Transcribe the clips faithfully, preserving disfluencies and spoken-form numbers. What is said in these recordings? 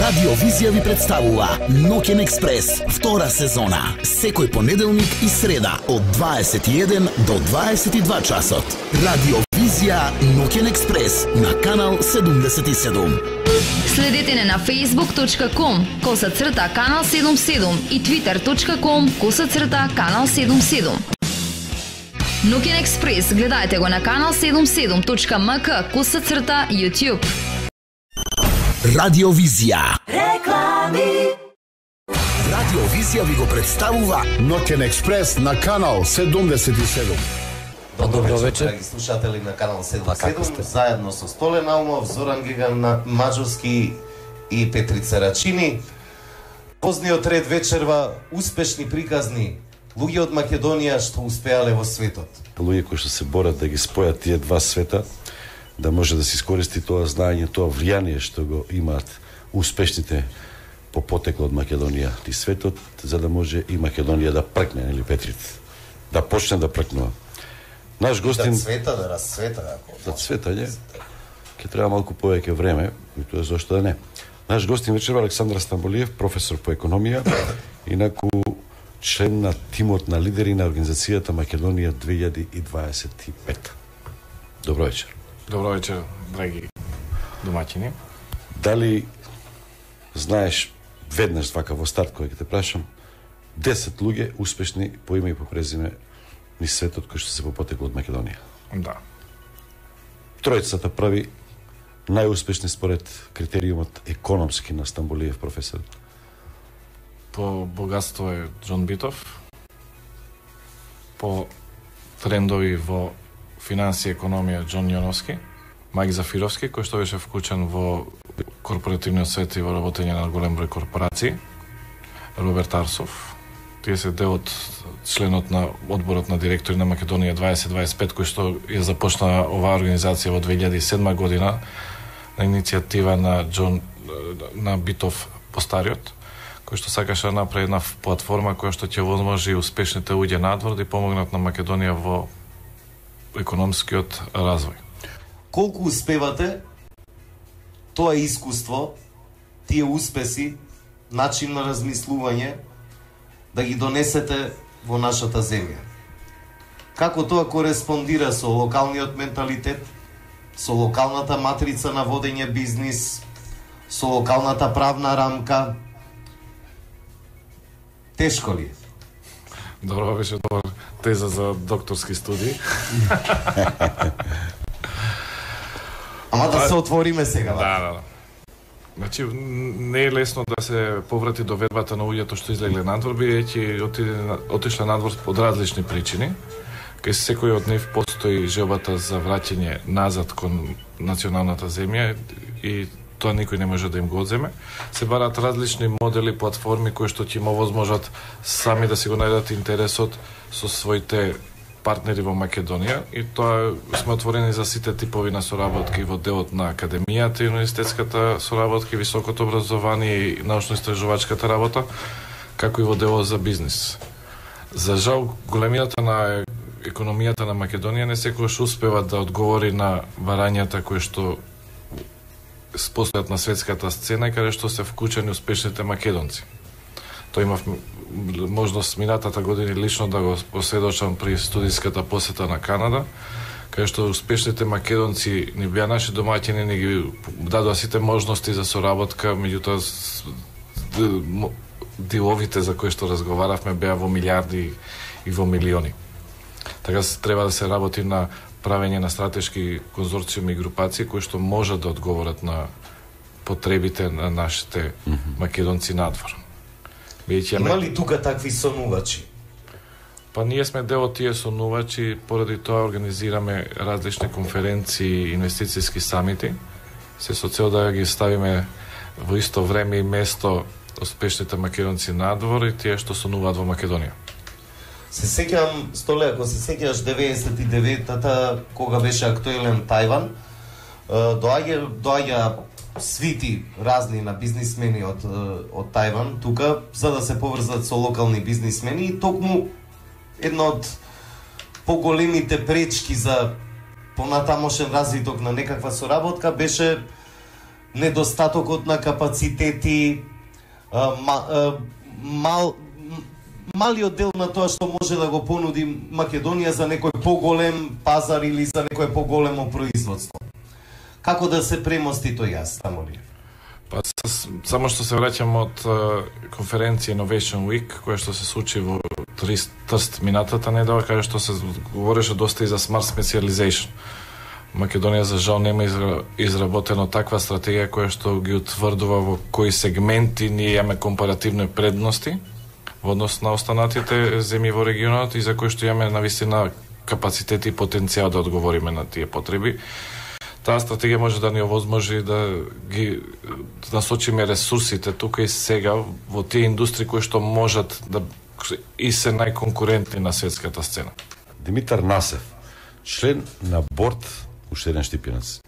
Радио Визија ви представува Ноќен експрес, втора сезона. Секој понеделник и среда од дваесет и еден до дваесет и два часот. Радио Визија Ноќен експрес на канал седумдесет и седум. Следете не на facebook точка com коса црта канал седумдесет и седум и twitter точка com коса црта канал седумдесет и седум. Ноќен експрес гледајте го на канал седумдесет и седум точка m k коса црта YouTube. Радио Визија. Реклами. Радио Визија ви го представува Ноќен експрес на канал седумдесет и седум. Добро вечер, драги слушатели на канал седумдесет и седум, заедно со Столе Наумов, Зоран Гиган Маџурски и Петрица Рачини. Позниот ред вечерва успешни приказни луѓе од Македонија што успеале во светот. Луѓе кои што се борат да ги спојат тие два света, да може да се искористи тоа знаење, тоа влијание што го имаат успешните по потекло од Македонија и светот, за да може и Македонија да пркне, нели Петрит, да почне да пркнува. Наш гостин да цвета, да расцвета, ако да цвета, не? Ќе треба малку повеќе време, и тоа зошто да не. Наш гостин вечерва Александар Стамболиев, професор по економија, инаку член на тимот на лидери на организацијата Македонија две илјади и дваесет и пета. Добро вечер. Добро вечер, драги домаќини. Дали знаеш веднаш вака во старт кој ќе те прашам десет луѓе успешни по име и по презиме низ светот кои што се по потекло од Македонија? Да. Тројцата први најуспешни според критериумот економски на Стамболиев професор. По богатство е Џон Битов. По трендови во финансија и економија Џон Јоновски, Мајк Зафировски, кој што беше вклучен во корпоративниот свет и во работење на голем број корпорации, Роберт Арсов. Тие се дел од членот на одборот на директори на Македонија дваесет дваесет и пет, кој што ја започна оваа организација во две илјади и седма година на иницијатива на Џон на Битов постариот, кој што сакаше да направи една платформа која што ќе возможи успешните луѓе надвор да помогнат на Македонија во економскиот развој. Колку успевате тоа искуство, тие успеси, начин на размислување да ги донесете во нашата земја? Како тоа кореспондира со локалниот менталитет, со локалната матрица на водење бизнис, со локалната правна рамка? Тешко ли? Добро беше добар теза за докторски студии. Ама да се отвориме сега. Да, да, да. Значи, не е лесно да се поврати доведбата на луѓето што излегле надвор, бидејќи отишле надвор од различни причини. Кај секој од нив постои желбата за враќање назад кон националната земја и тоа никој не може да им го одземе. Се барат различни модели, платформи кои што ќе им овозможат сами да си го најдат интересот со своите партнери во Македонија, и тоа сме отворени за сите типови на соработки во делот на академијата и универзитетската соработки, високото образование и научно-истражувачката работа, како и во делот за бизнис. За жал, големината на економијата на Македонија не секогаш успева да одговори на барањата кои што постојат на светската сцена и каде што се вклучени успешните македонци. Тоа имав можност минатата година лично да го посведочам при студиската посета на Канада, каде што успешните македонци ни беа наши домаќини, ни ги дадоа сите можности за соработка, меѓутоа диловите за кои што разговаравме беа во милиарди и во милиони. Така треба да се работи на правење на стратешки конзорциуми и групации кои што можат да одговорат на потребите на нашите македонци надвор. Има ли тука такви сонувачи? Па ние сме дел од тие сонувачи, поради тоа организираме различни конференции, инвестицијски самити, се со цел да ги ставиме во исто време и место успешните македонци надвор и тие што сонуваат во Македонија. Се сеќавам, Столе, ако се сеќаваш деветдесет и деветата, кога беше актуелен Тајван, доаѓа, доаѓа свити разни на бизнисмени од, од Тајван тука, за да се поврзат со локални бизнисмени, и токму една од поголемите пречки за понатамошен развиток на некаква соработка беше недостатокот на капацитети, а, ма, а, мал малиот дел на тоа што може да го понуди Македонија за некој поголем пазар или за некој поголемо производство. Како да се премости тој јас, тамо ли? Па само што се враќам од конференција Innovation Week, која што се случи во Трст минатата недела, каде што се говореше доста и за Smart Specialization. Македонија за жал нема изработено таква стратегија која што ги утврдува во кои сегменти ние имаме компаративни предности во однос на останатите земји во регионот и за кои што имаме навистина капацитет и потенцијал да одговориме на тие потреби. Таа стратегија може да ни овозможи да ги да насочиме ресурсите тука и сега во тие индустрии кои што можат да и се најконкурентни на светската сцена. Димитар Насев, член на борд, уште еден Штипјанец,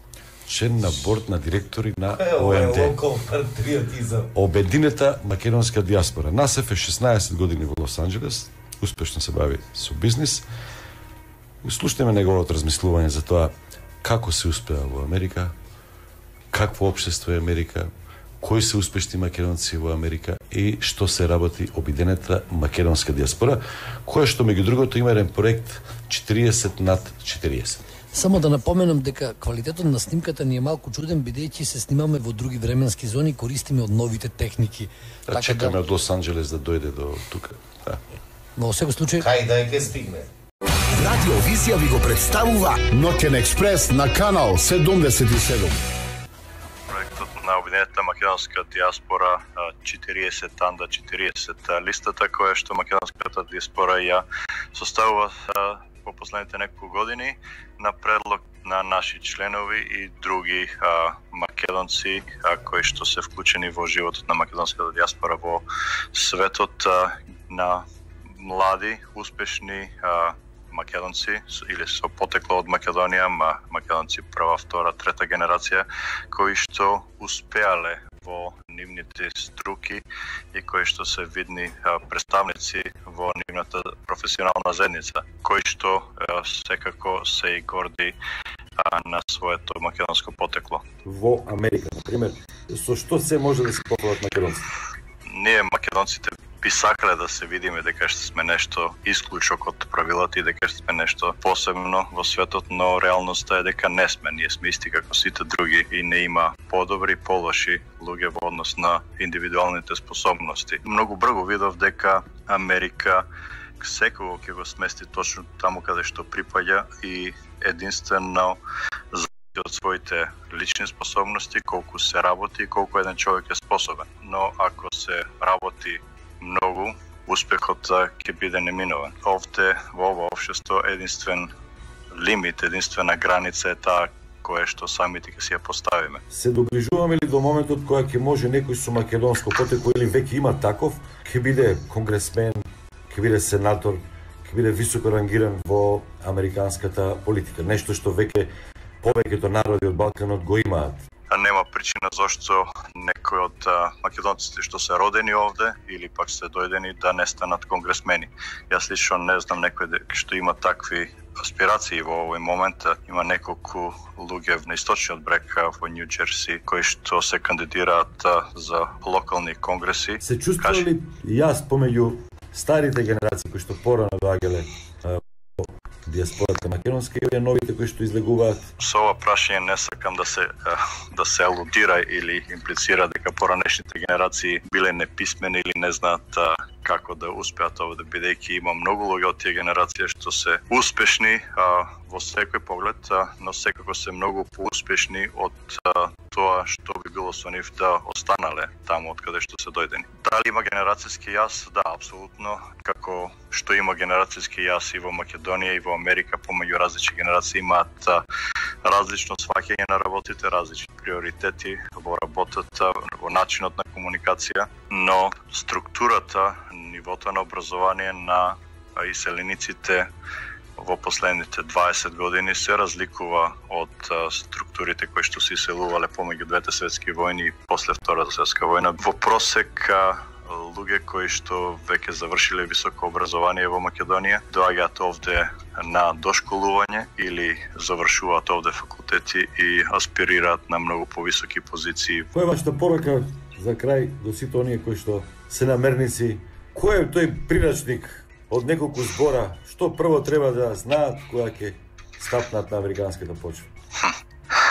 член на борд на директори на О М Д, Обединета македонска дијаспора. Насев е шеснаесет години во Лос Анџелес, успешно се бави со бизнис. Слушнеме неговото размислување за тоа како се успеа во Америка, какво општество е Америка, кои се успешни македонци во Америка и што се работи Обединета македонска дијаспора, која што меѓу другото има еден проект четириесет над четириесет. Само да напоменам дека квалитетот на снимката ни е малку чуден, бидејќи се снимаме во други временски зони, користиме од новите техники. Да, така чекаме да... од Лос Анџелес да дојде до тука. Да. Но во секој случај... Кај да ќе стигне. Радио Визија ви го представува Ноќен експрес на канал седумдесет и седум. Проектот на Обединета македонска дијаспора четириесет анда четириесет листата која што македонската дијаспора ја составува во последните неколку години на предлог на наши членови и други а, македонци а, кои што се вклучени во животот на македонската дијаспора во светот а, на млади, успешни а, македонци или со потекло од Македонија, ма македонци прва, втора, трета генерација кои што успеале во нивните струки и кои што се видни а, представници во нивната професионална заедница, кои што а, секако се и горди а, на своето македонско потекло. Во Америка, например, со што се може да се пофалат македонците? Ние македонците би сакале да се видиме дека што сме нешто исклучок од правилата и дека што сме нешто посебно во светот, но реалноста е дека не сме. Ние сме исти како сите други и не има подобри и полоши луѓе во однос на индивидуалните способности. Многу брзо видов дека Америка секој ќе го смести точно таму каде што припаѓа и единствено од своите лични способности, колку се работи и колку еден човек е способен. Но ако се работи многу, успехот ќе биде неминовен. Овде во ова општество единствен лимит, единствена граница е таа која што самите ќе си ја поставиме. Се доближуваме ли до моментот кога ќе може некој со македонско потекло или веќе има таков, ќе биде конгресмен, ќе биде сенатор, ќе биде високо рангиран во американската политика, нешто што веќе повеќето народи од Балканот го имаат? Нема причина зашто некој од македонците што се родени овде или пак се дојдени да не станат конгресмени. Јас лично не знам некој што има такви аспирации во овој момент. Има неколку луѓе на источниот брег во Нью Џерси кои што се кандидираат за локални конгреси. Се чувствува ли јас помеѓу старите генерации кои што порано доаѓале дијаспората македонска и новите кои што излегуваат? Со ова прашање не сакам да се да се алудира или имплицира дека поранешните генерации биле неписмени или не знаат како да успеат овде, бидејќи има многу луѓе од тие генерации што се успешни а, во секој поглед, а, но секако се многу поуспешни од а, тоа што би било со нив да останале таму од каде што се дојдени. Дали има генерацијски јас? Да, апсолутно. Како што има генерацијски јас и во Македонија и во Америка, помеѓу различни генерации имаат а, различно сваќање на работите, различни приоритети во работата, во начинот на комуникација, но структурата, нивото на образование на иселениците во последните дваесет години се разликува од структурите кои што се иселувале помеѓу двете светски војни и после Втората светска војна. Во просек луѓе кои што веќе завршиле високо образование во Македонија, доаѓаат овде на дошколување или завршуваат овде факултети и аспирираат на многу повисоки позиции. Која е вашата порака за крај до сите оние кои што се намерници? Кој е тој прирачник од неколку збора што прво треба да знаат кога ќе стапнат на американската почва?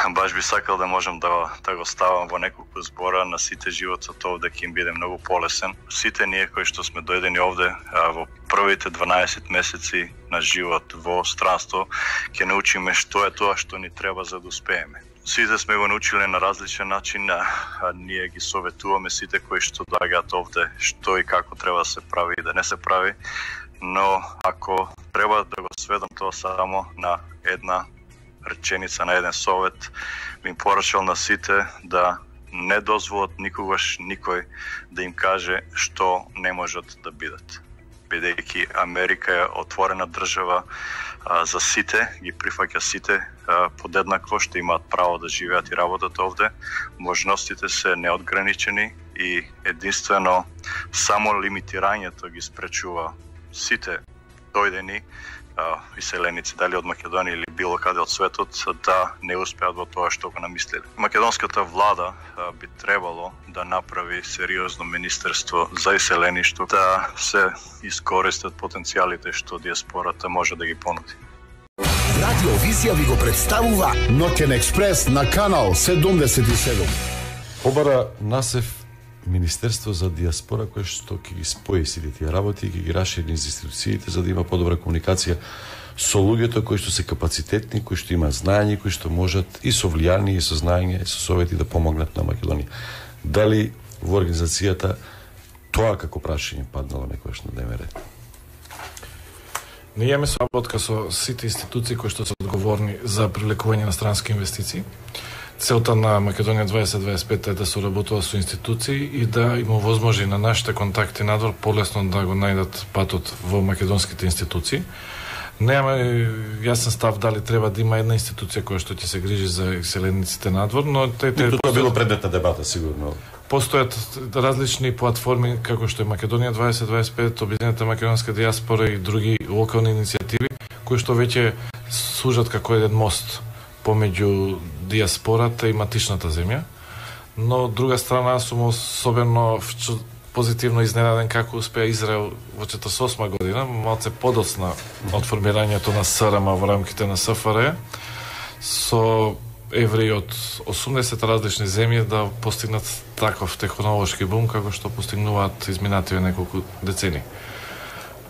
Баш би сакал да можам да, да го ставам во неколку збора. На сите животот овде ќе им биде многу полесен. Сите ние кои што сме дојдени овде а, во првите дванаесет месеци на живот во странство ќе научиме што е тоа што ни треба за да успееме. Сите сме го научиле на различен начин, а, а ние ги советуваме сите кои што доаѓаат овде што и како треба да се прави и да не се прави. Но ако треба да го сведам тоа само на една реченица, на еден совет, би им порачал на сите да не дозволат никогаш никој да им каже што не можат да бидат. Бидејќи Америка е отворена држава а, за сите, ги прифаќа сите а, подеднакво, што имаат право да живеат и работат овде. Можностите се неодграничени и единствено само лимитирањето ги спречува сите дојдени иселеници, дали од Македонија или било каде од светот, да не успеат во тоа што го намислиле. Македонската влада а, би требало да направи сериозно министерство за иселеништво, да се искористат потенцијалите што диаспората може да ги понуди. Радио Визија ви го представува Ноќен експрес на канал седумдесет и седум. Побара насев Министерство за диаспора кој што ќе ги спои сите тие работи и ќе ги расшири низ институциите за да има подобра комуникација со луѓето кои што се капацитетни, кои што имаат знаење, кои што можат и со влијание, и со знаење, и со совети да помогнат на Македонија. Дали во организацијата тоа како прашање паднало некојаш на дневен ред? Ние имаме соработка со сите институции кои што се одговорни за привлекување на странски инвестиции. Целта на Македонија дваесет дваесет и пет е да соработува со институции и да има возможи на нашите контакти надвор полесно да го најдат патот во македонските институции. Немаме јасен став дали треба да има една институција која што ќе се грижи за иселениците надвор, но те те тоа било предмет на дебата сигурно. Постојат различни платформи како што е Македонија дваесет дваесет и пет, Обединета македонска диаспора и други локални иницијативи кои што веќе служат како еден мост помеѓу диаспората и матичната земја. Но од друга страна сум особено позитивно изненаден како успеа Израел во четиридесет и осма година, малце подоцна од формирањето на СРМ во рамките на СФР, со евреи од осумдесет различни земји да постигнат таков технолошки бум како што постигнуваат изминативе неколку децени.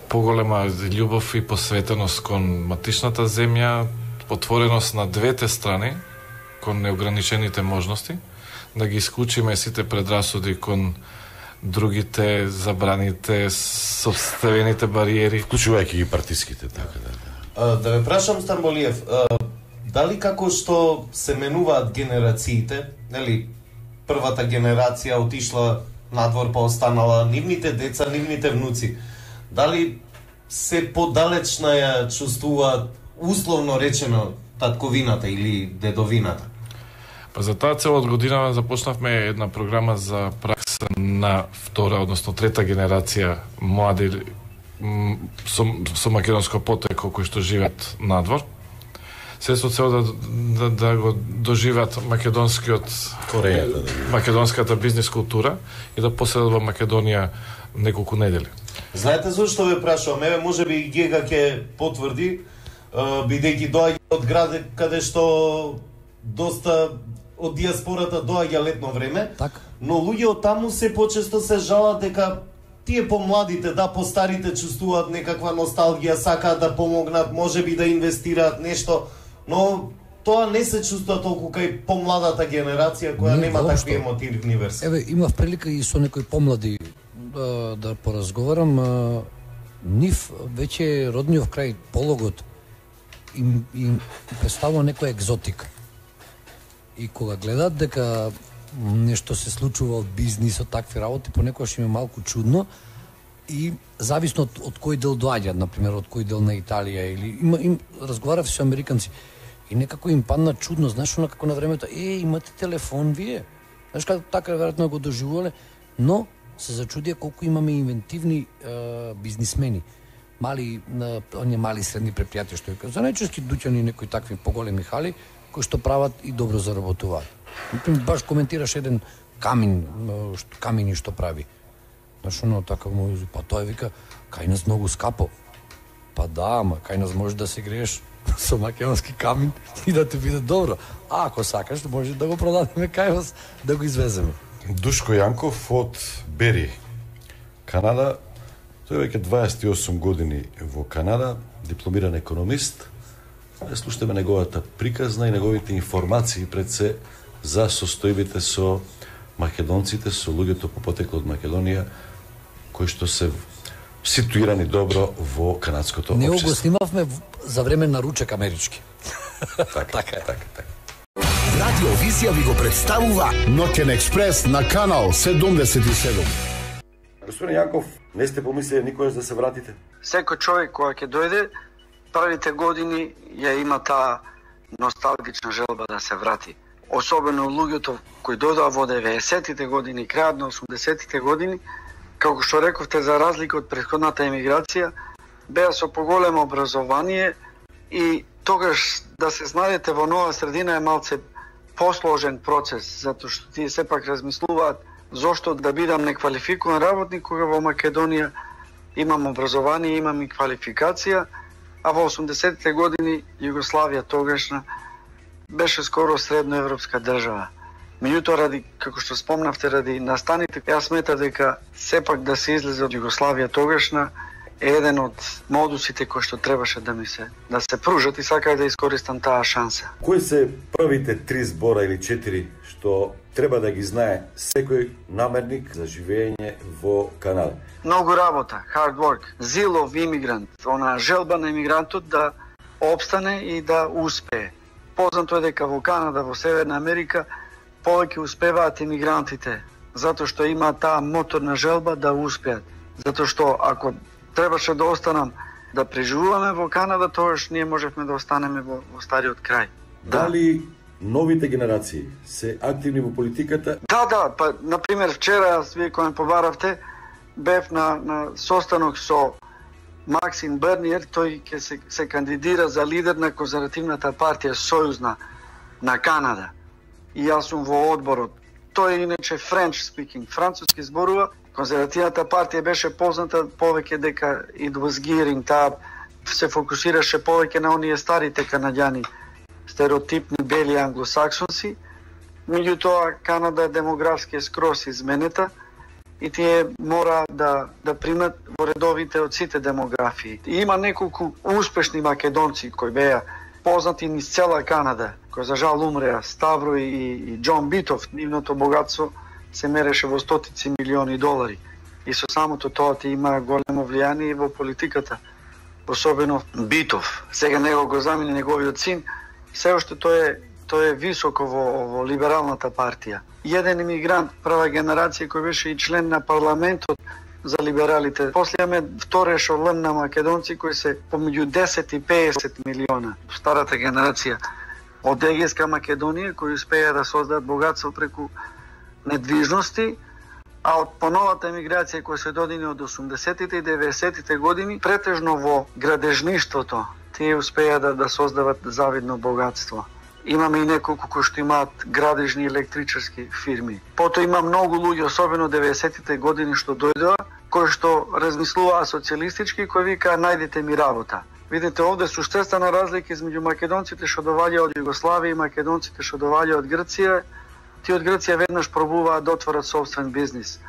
Поголема љубов и посветеност кон матичната земја, отвореност на двете страни кон неограничените можности, да ги исклучиме сите предрасуди кон другите, забраните, собствените бариери. Вклучувајќи ги партиските, така да. А, да ве прашам, Стамболиев, а, дали како што се менуваат генерациите, нели, првата генерација отишла надвор па останала нивните деца, нивните внуци, дали се подалечна ја чувствуваат условно речено татковината или дедовината? Па за таа цел од година започнавме една програма за пракса на втора, односно трета генерација млади со, со македонско потекло кои што живеат надвор. Се со цел да, да, да го доживеат македонскиот Корејата, да. македонската бизнис култура и да поседат во Македонија неколку недели. Знаете зашто ве прашувам? Еве можеби Гега ќе потврди, бидејќи доаѓа од град каде што доста од диаспората доаѓа летно време, Так. но луѓе од таму се почесто се жалат дека тие помладите, да, постарите чувствуваат некаква носталгија, сакаат да помогнат, можеби да инвестираат нешто, но тоа не се чувствува толку кај помладата генерација која Не, нема воопшто. такви емотивни верси. Еве, имав прилика и со некои помлади да, да поразговарам. А, нив веќе родниот крај пологот им, им представува некоја екзотика. И кога гледат дека нешто се случува од бизнисот, такви работи, понекогаш им е малку чудно и зависно од, од кој дел доаѓаат, например, од кој дел на Италија или има им разговарав со американци и некако им падна чудно, знаеш, она како на времето, е, имате телефон вие. Знаеш како така веројатно го доживувале, но се зачудија колку имаме инвентивни е, бизнисмени. Мали, на, оние мали и средни предпријатија што е. За најчести дуќани некои такви поголеми хали кои што прават и добро заработуваат. Например, баш коментираш еден камин, камини што прави. Знаеш, оно така му, па тоа вика, кај нас многу скапо. Па да, ама кај нас може да се грееш со македонски камин и да ти биде добро. А ако сакаш, може да го продадеме кај вас, да го извеземе. Душко Јанков од Бери, Канада. Тој веќе дваесет и осум години во Канада, дипломиран економист. Слушаме неговата приказна и неговите информации пред се за состојбите со македонците, со луѓето по потекло од Македонија, кои што се ситуирани добро во канадското општество. Него го снимавме за време на ручек амерички. Така, така е, така, така. Радио Визија ви го представува Ноќен експрес на канал седумдесет и седум. Господин Јанков, не сте помислили никогаш да се вратите? Секој човек која ќе дојде, првите години ја има таа носталгична желба да се врати. Особено луѓето кои дојдоа во деветдесетите години, крајот на осумдесетите години, како што рековте, за разлика од претходната емиграција, беа со поголемо образование и тогаш да се знајдете во нова средина е малце посложен процес, затоа што тие сепак размислуваат зошто да бидам неквалификуван работник кога во Македонија имам образование, имам и квалификација, а во осумдесетите години Југославија тогашна беше скоро средноевропска држава. Меѓутоа, ради, како што спомнавте, ради настаните, јас сметам дека сепак да се излезе од Југославија тогашна е еден од модусите кои што требаше да ми се да се пружат и сакај да искористам таа шанса. Кои се првите три збора или четири што треба да ги знае секој намерник за живење во Канада? Многу работа, hard work, zeal of immigrant, она желба на емигрантот да опстане и да успее. Познато е дека во Канада, во Северна Америка, повеќе успеваат емигрантите, затоа што имаат таа моторна желба да успеат. Затоа што ако требаше да останам да преживуваме во Канада, тогаш ние можевме да останеме во, во стариот крај. Дали новите генерации се активни во политиката? Да, да, па например вчера јас вие кој ме побаравте, бев на, на состанок со Максим Берниер, тој ќе се, се кандидира за лидер на конзервативната партија Сојузна на Канада. И јас сум во одборот. Тој е иначе French speaking, француски зборува. Конзервативната партија беше позната повеќе дека it was gearing, таа се фокусираше повеќе на оние старите канаѓани, стереотипни бели англосаксонци. Меѓутоа, Канада е демографски скрос изменета и тие мора да да примат во редовите од сите демографии. И има неколку успешни македонци кои беа познати низ цела Канада, кои за жал умреа, Ставро и, и Џон Битов. Нивното богатство се мереше во стотици милиони долари. И со самото тоа ти има големо влијание во политиката. Особено Битов. Сега него го замени неговиот син. Се уште тој е тој е високо во, во либералната партија. Еден емигрант, прва генерација кој беше и член на парламентот за либералите. После имаме втора ешелон на македонци кои се помеѓу десет и песет милиона. Старата генерација од Егејска Македонија кои успеа да создадат богатство преку недвижности, а од поновата емиграција која се додини од осумдесетите и деветдесетите години, претежно во градежништвото, тие успеа да, да создават завидно богатство. Имаме и неколку кои што имаат градежни електричарски фирми. Потоа има многу луѓе, особено деветдесетите години што дојдоа, кои што размислуваа социјалистички, кои викаа најдете ми работа. Видите, овде суштествена разлика измеѓу македонците што доваѓаа од Југославија и македонците што доваѓаа од Грција. Тие од Грција веднаш пробуваат да отворат собствен бизнис.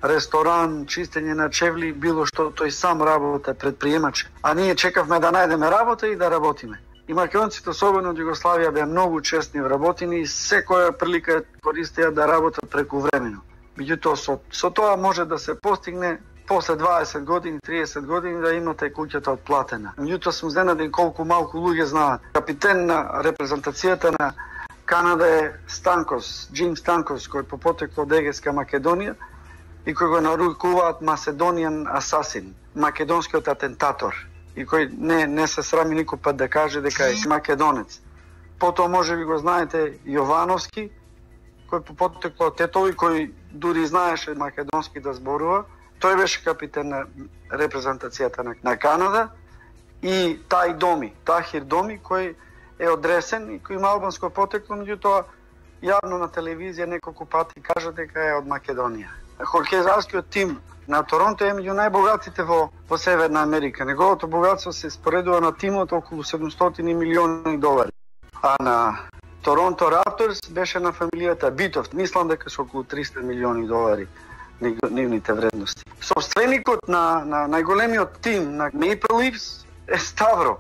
Ресторан, чистење на чевли, било што, тој сам работа, предприемач. А ние чекавме да најдеме работа и да работиме. И македонците, особено од Југославија, беа многу честни вработени и секоја прилика користеа да работат прекувремено. Меѓутоа, со, со тоа може да се постигне после дваесет години, триесет години да имате куќата отплатена. Меѓутоа, сум изненаден колку малку луѓе знаат. Капитен на репрезентацијата на Канада е Станкос, Джим Станкос, кој по потекло од Егејска Македонија и кој го нарекуваат Macedonian Assassin, македонскиот атентатор, и кој не не се срами никој пат да каже дека е македонец. Потоа може би го знаете Јовановски, кој по потекло од Тетови, кој дури знаеше македонски да зборува. Тој беше капитан на репрезентацијата на, на Канада и тај Доми, Тахир Доми, кој е одресен и кој има албанско потекло, меѓутоа јавно на телевизија неколку пати кажа дека е од Македонија. Хокејскиот тим на Торонто е меѓу најбогатите во, во Северна Америка. Неговото богатство се споредува на тимот околу седумстотини милиони долари. А на Торонто Рапторс беше на фамилијата Битов. Мислам дека со околу триста милиони долари нивните вредности. Собственикот на, на најголемиот тим на Maple Leafs е Ставро.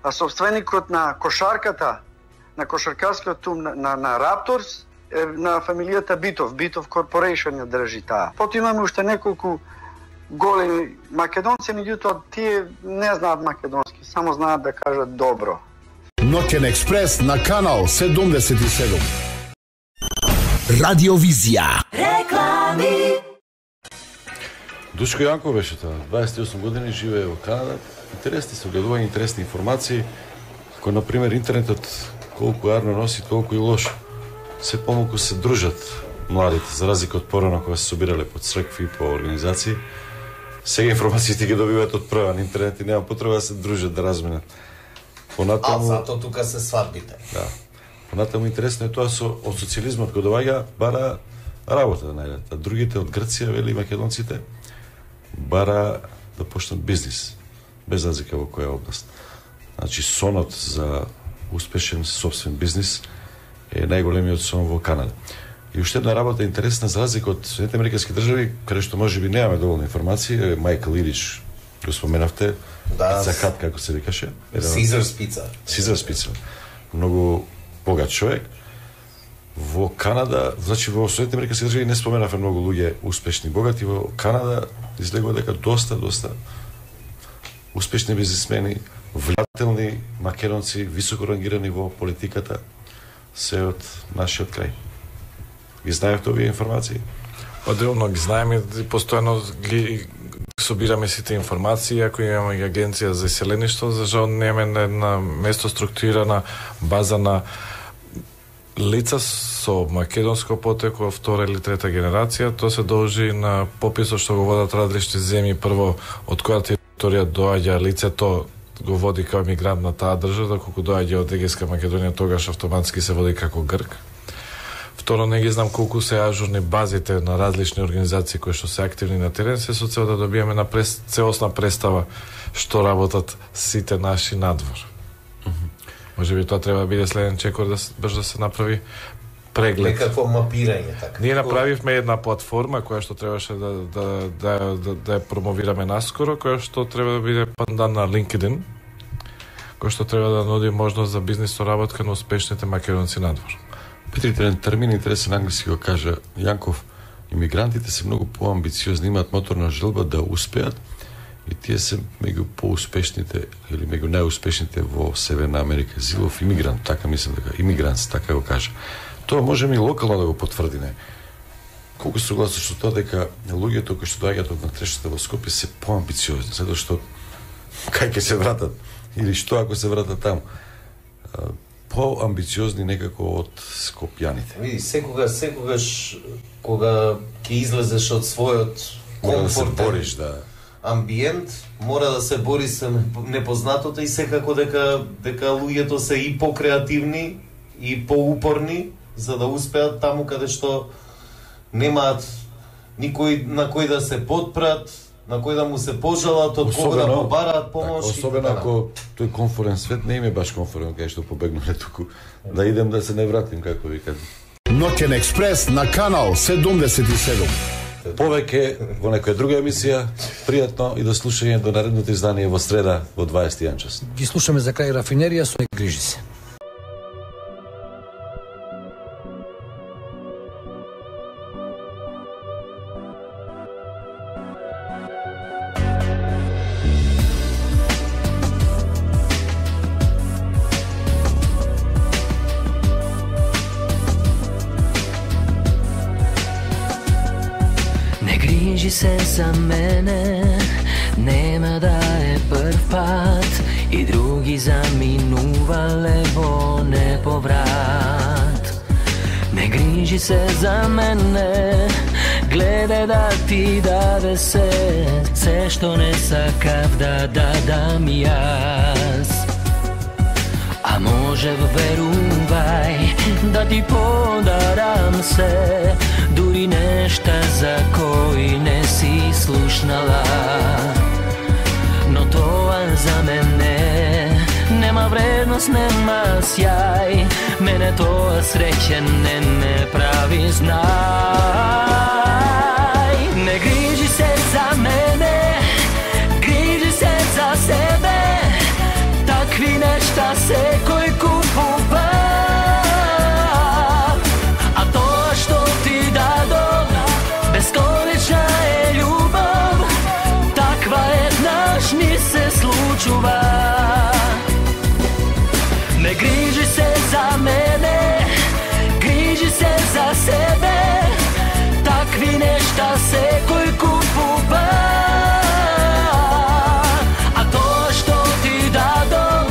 А собственикот на кошарката, на кошаркарскиот тим на, на, на Рапторс е на фамилијата Битов. Битов Corporation ја држи таа. Потоа имаме уште неколку големи македонци, меѓутоа тие не знаат македонски, само знаат да кажат добро. Ноќен експрес на канал седумдесет и седум. Радиовизија. Реклами. Душко Јанков беше тоа, дваесет и осум години, живее во Канада. Интересни согледувања, интересни информации, кои на пример интернетот колку јарно носи, толку и лошо. Се помалку се дружат младите, за разлика од порано кога се собирале по цркви, по организации. Сега информациите ги добиваат од прва на интернет и нема потреба да се дружат, да разменат. Понатаму... А зато тука се свадбите. Да. Понатаму интересно е тоа со од социјализмот кога доаѓа бара работа да најдат. А другите од Грција, вели македонците, бара да почнат бизнис, без разлика во која област. Значи сонот за успешен собствен бизнис е најголемиот сон во Канада. И уште една работа интересна за разлика од Соединетите американски држави, каде што можеби немаме доволно информации, Майкл Идич го споменавте, да, Пица Хат, како се викаше. Сизарс Пица. Сизарс Пица. Многу богат човек. Во Канада, значи во Соединетите американски држави не споменавме многу луѓе успешни богати, во Канада излегува дека доста, доста успешни бизнисмени, влијателни македонци, високо рангирани во политиката, се од нашиот крај. Ги знаевте овие информации? Одделно ги знаеме, постојано ги собираме сите информации, ако имаме агенција за иселеништво, за жал немаме една место структурирана база на лица со македонско потекло, втора или трета генерација. Тоа се должи на пописот што го водат различни земји, прво од која територија доаѓа лицето, го води како мигрант на таа држава, доколку доаѓа од Егејска Македонија, тогаш автоматски се води како грк. Второ, не ги знам колку се ажурни базите на различни организации кои што се активни на терен, се со цел да добиеме на прес, целосна представа што работат сите наши надвор. Mm-hmm. Може би тоа треба да биде следен чекор да брж да се направи преглед. Некакво мапирање така. Ние направивме една платформа која што требаше да да да да, да ја промовираме наскоро, која што треба да биде пандан на LinkedIn, која што треба да нуди можност за бизнис соработка на успешните македонци надвор. Петрите термин интересен англиски го кажа Јанков, имигрантите се многу поамбициозни, имаат моторна желба да успеат и тие се меѓу поуспешните или меѓу најуспешните во Северна Америка. Зилов имигрант, така мислам дека имигрант, така го кажа. Тоа можеме и локално да го потврдиме. Колку се согласуваш со тоа дека луѓето кои што доаѓаат од натрешата во Скопје се поамбициозни, затоа што кај ќе се вратат или што ако се вратат таму? Поамбициозни некако од скопјаните. Види, секогаш, секогаш кога ќе излезеш од својот комфортен да, да. амбиент, мора да се бори со непознатото и секако дека дека луѓето се и покреативни и поупорни за да успеат таму каде што немаат никој на кој да се подпрат, на кој да му се пожалат, од кого да побараат помош. Так, особено ако тој комфорен свет не им е баш комфорен, кај што побегнале туку, да идем да се не вратим, како ви кажам. Ноќен експрес на канал седумдесет и седум. Повеќе во некоја друга емисија, пријатно и до слушање до наредното издание во среда во дваесет и еден час. Ги слушаме за крај рафинерија со Не грижи се. Грижи се за мене, нема да е прв пат и други заминувале во неповрат. Не грижи се за мене, гледај да ти даде се, се што не сакав да дадам јас. А можев, верувај, да ти подарам се, дури нешта за кои не си слушнала. Но тоа за мене нема вредност, нема сјај, мене тоа среќен не ме прави, знај. Не грижи се за мене, грижи се за себе, такви нешта секој купува. А тоа што ти дадов, бесконечна е љубов, таква еднаш ни се случува. Не грижи се за мене, грижи се за себе, такви нешта секој купува. А тоа што ти дадов,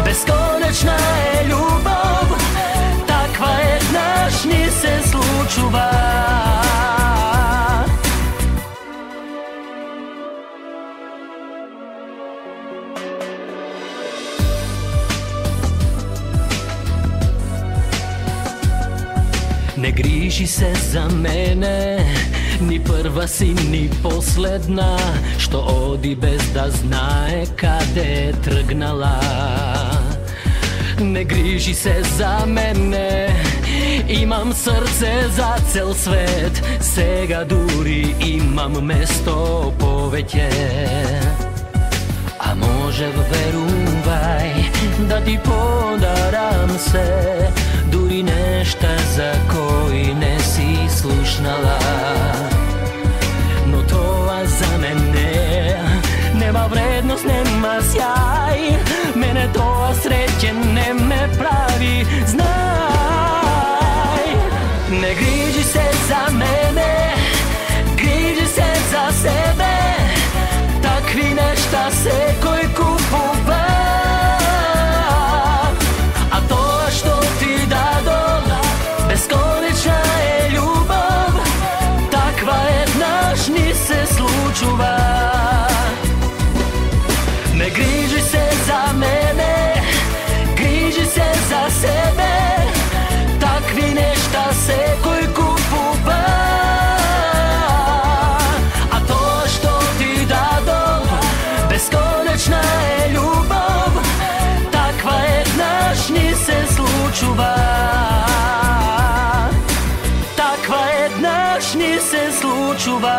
бесконечна е љубов, таква еднаш ни се случува. Не грижи се за мене, ни прва си, ни последна, што оди без да знае каде е тргнала. Не грижи се за мене, имам срце за цел свет, сега дури имам место повеќе. А можев, верувај, да ти подарам се, дури нешта за кои не си слушнала. Но тоа за мене нема вредност, нема сјај, мене тоа среќен не ме прави, знај. Не грижи се за мене, грижи се за себе, такви нешта секој купува. А тоа што ти дадов, бесконечна е љубов, таква еднаш ни се случува. Не грижи се за мене, грижи се за себе, такви нешта секој купува. А тоа што ти дадов, бесконечна е љубов, таква еднаш ни се случува. Таква еднаш ни се случува.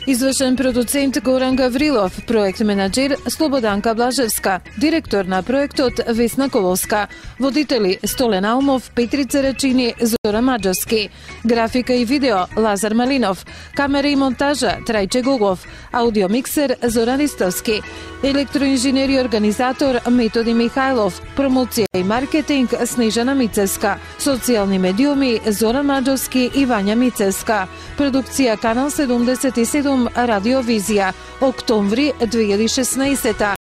Извршен продуцент Горан Гаврилов, проект менаџер Слободанка Блажевска, директор на проектот Весна Коловска, водители Столен Аумов, Петрица Рачини, Зора Маџовски, графика и видео Лазар Малинов, камера и монтажа Трајче Гогов, аудиомиксер Зоран Ристовски, електроинженер и организатор Методи Михајлов, промоција и маркетинг Снежана Мицевска, социјални медиуми Зоран Маџовски и Вања Мицевска, продукција Канал седумдесет и седум Радио Визија, октомври две илјади и шеснаесета.